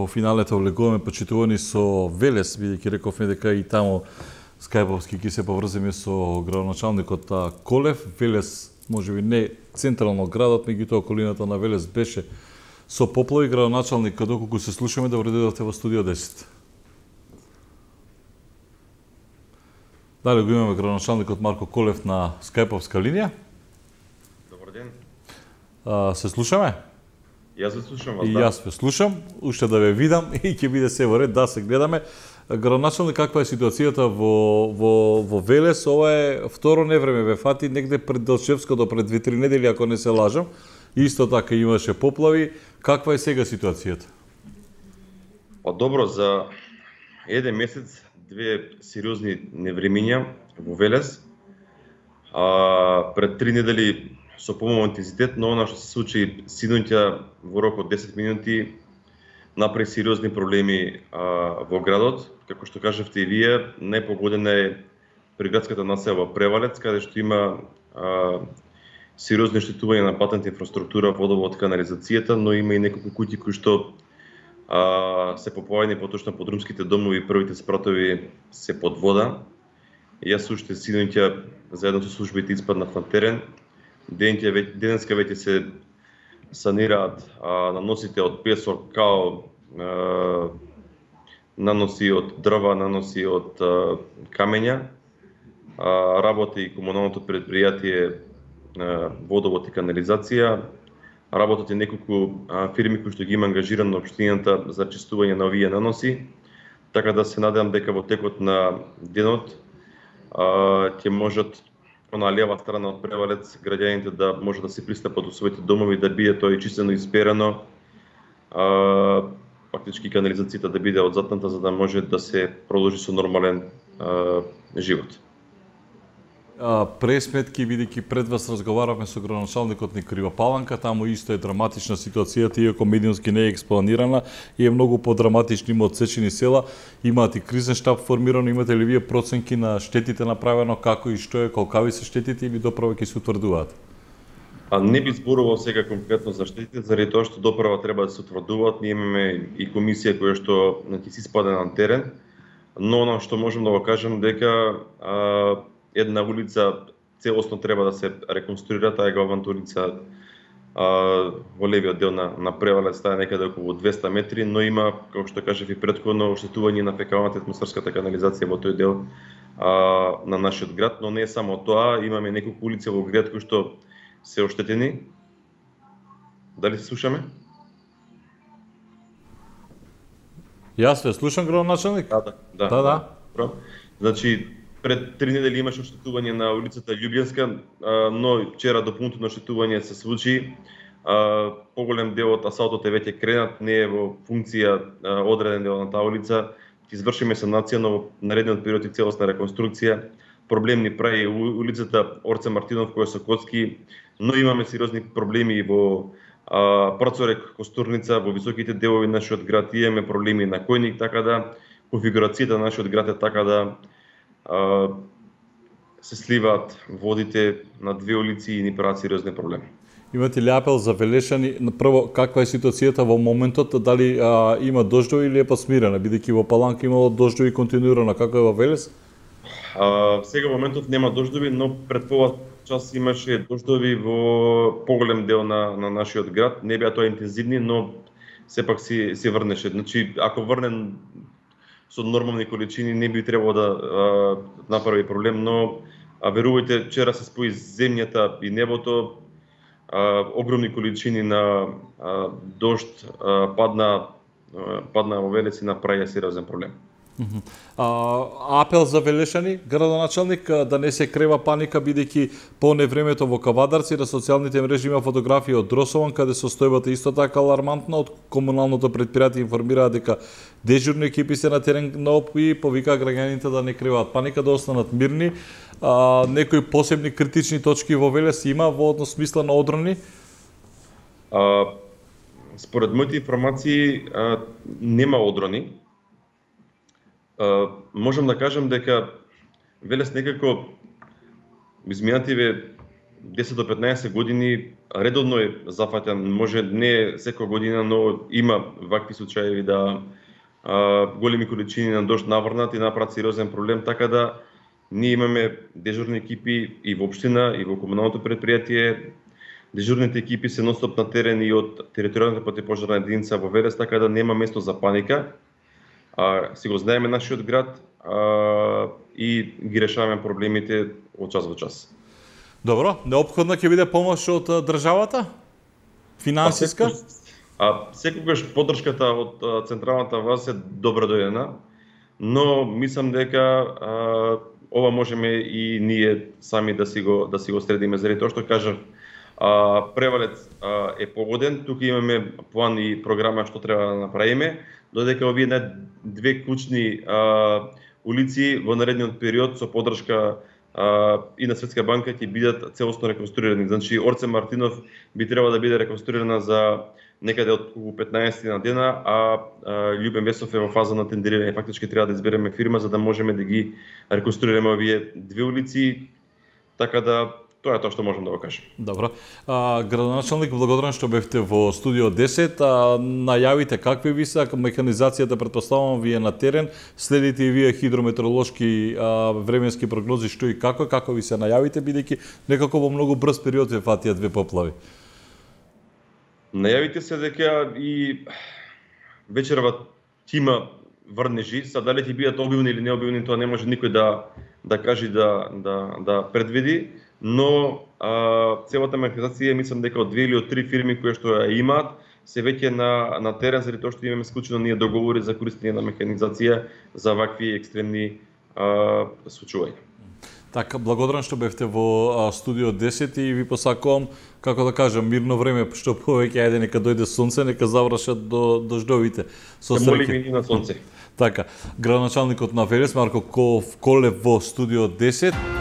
во финалите влегуваме почитувани со Велес, бидејќи рековме дека и таму скајповски ќе се поврземе со градоначалникот Колев. Велес, можеби не централно градот, меѓутоа околината на Велес беше со поплави. Градоначалник, доколку се слушаме, добро дојдовте во студио 10. Дали го имаме градоначалникот Марко Колев на скајповска линија? Добар ден. Се слушаме? Јас се слушам вас, И да. јас ве слушам, уште да ве видам и ќе биде се во ред да се гледаме. Градоначалник, каква е ситуацијата во Велес? Ова е второ невреме ве фати негде пред Делчевското, пред 2-3 недели, ако не се лажам. Исто така имаше поплави. Каква е сега ситуацијата? Па добро, за еден месец две сериозни невремиња во Велес. Пред 3 недели со помалку интензитет, но она што се случи синоќа во рок од 10 минути направи сериозни проблеми во градот. Како што кажавте и вие, најпогодена е приградската населба Превалец, каде што има сериозни оштетувања на патната инфраструктура, водовод, канализацијата, но има и неколку куќи кои што се поплавени, поточно подрумските домови, првите спратови се под вода. Јас уште синоќа заедно со службите испаднав на терен. Денеска веќе се санираат наносите од песок, као наноси од дрва, наноси од камења. Работи и комуналното предпријатие водовод и канализација. Работат и неколку фирми кои што ги има ангажирано општината за чистување на овие наноси. Така да се надевам дека во текот на денот ќе можат на лева страна од Превалец граѓаните да може да се пристапат до своите домови, да биде тоа и чистено и сперено, фактички канализацијата да биде одзатната за да може да се продолжи со нормален живот. Пресметки, бидејќи пред вас разговаравме со градоначалникот на Кривопаланка, таму исто е драматична ситуацијата, иако медиумски не е експланирана и е многу подраматични, има одсечени села, имаат и кризен штаб формирано, имате ли вие проценки на штетите направено, како и што е, колкави се штетите или доправа ќе се утврдуваат? Не би зборувал сега конкретно за штетите, заради тоа што доправа треба да се утврдуваат. Ние имаме и комисија која што ќе си спаде на терен, но она што можам да го кажам дека една улица целосно треба да се реконструира, таа е главната улица во левиот дел на Превалец, таа е некаде околу 200 метри, но има, како што кажав и претходно, оштетување на фекалната атмосферската канализација во тој дел на нашиот град, но не е само тоа, имаме неколку улици во град кои што се оштетени. Дали се слушаме? Јас ве слушам, градоначалник? Да. Значи, пред 3 недели имаше оштетување на улицата Љубљанска, но вчера дополнително оштетување се случи. Поголем дел од асфалтот е веќе кренат, не е во функција одреден дел на таа улица. Ќе извршиме санација, но во наредниот период и целосна реконструкција. Проблемни прави улицата Орце Мартинов која со коцки, но имаме сериозни проблеми во Прцорек, Костурница, во високите делови на нашиот град имаме проблеми на Којник, така да конфигурацијата на нашиот град е така да се сливаат водите на две улици и ни прават сериозни проблеми. Имате ли апел за Велешани? Прво, каква е ситуацијата во моментот? Дали има дождови или е посмирена? Бидејќи во Паланка имало дождови континуирано, како е во Велес? Сега во моментот нема дождови, но пред пола час имаше дождови во поголем дел на нашиот град. Не беа тоа интензивни, но сепак се врнеше. Значи, ако врне со нормални количини не би требало да направи проблем, но верувајте, вчера се спои земјата и небото, огромни количини на дожд падна во Велес и направи сериозен проблем. Апел за Велешани, градоначалник, да не се крева паника, бидејќи по невремето во Кавадарци на социјалните мрежи има фотографии од Дросован, каде состојбата исто така алармантна. Од комуналното предпријатие информираат дека дежурни екипи се на терен и повика граѓаните да не креваат паника, да останат мирни. Некои посебни критични точки во Велес има во однос смисла на одрони? Според моите информации нема одрони. Можам да кажам дека Велес некако изминативе 10 до 15 години редовно е зафаќан, може не секоја година, но има вакви случаи да големи количини на дожд наврнат и направат сериозен проблем, така да ние имаме дежурни екипи и во општина и во комуналното предпријатие. Дежурните екипи се нон-стоп на терен и од територијалната противпожарна единица во Велес, така да нема место за паника. Си го знаеме нашиот град и ги решаваме проблемите од час во час. Добро, неопходна ќе биде помош од државата? Финансиска? Секогаш поддршката од централната власт е добро дојдена, но мислам дека ова можеме и ние сами да си го средиме, заради тоа што кажав, Превалец е погоден, тука имаме план и програма што треба да направиме, додека овие две клучни улици во наредниот период со поддршка и на Светска банка ќе бидат целосно реконструирани. Значи Орце Мартинов би требало да биде реконструирана за некаде од 15 на дена, а Љубен Весов е во фаза на тендерирање. Фактички треба да избереме фирма за да можеме да ги реконструираме овие две улици, така да тоа е тоа што можам да го кажам. Добро. Градоначалник, благодарам што бевте во студио 10. Најавите какви ви се, механизацијата претпоставувам ви е на терен, следите и вие хидрометеоролошки временски прогнози што и како ви се најавите, бидејќи некако во многу брз период ве фатија две поплави. Најавите се дека и вечерва тима врнежи, са дали ќе бидат обилни или необилни, тоа не може никој да каже да предвиди, но целата механизација мислам дека од 2 или од 3 фирми кои што ја имаат се веќе на терен, заради тоа што имаме склучено ние договори за користење на механизација за вакви екстремни случаи. Така, благодарам што бевте во студио 10 и ви посакувам, како да кажам, мирно време, што повеќе ајде нека дојде сонце, нека завршат до дождовите. Се молиме и на сонце. Така, градоначалникот на Велес Марко Колев во студио 10.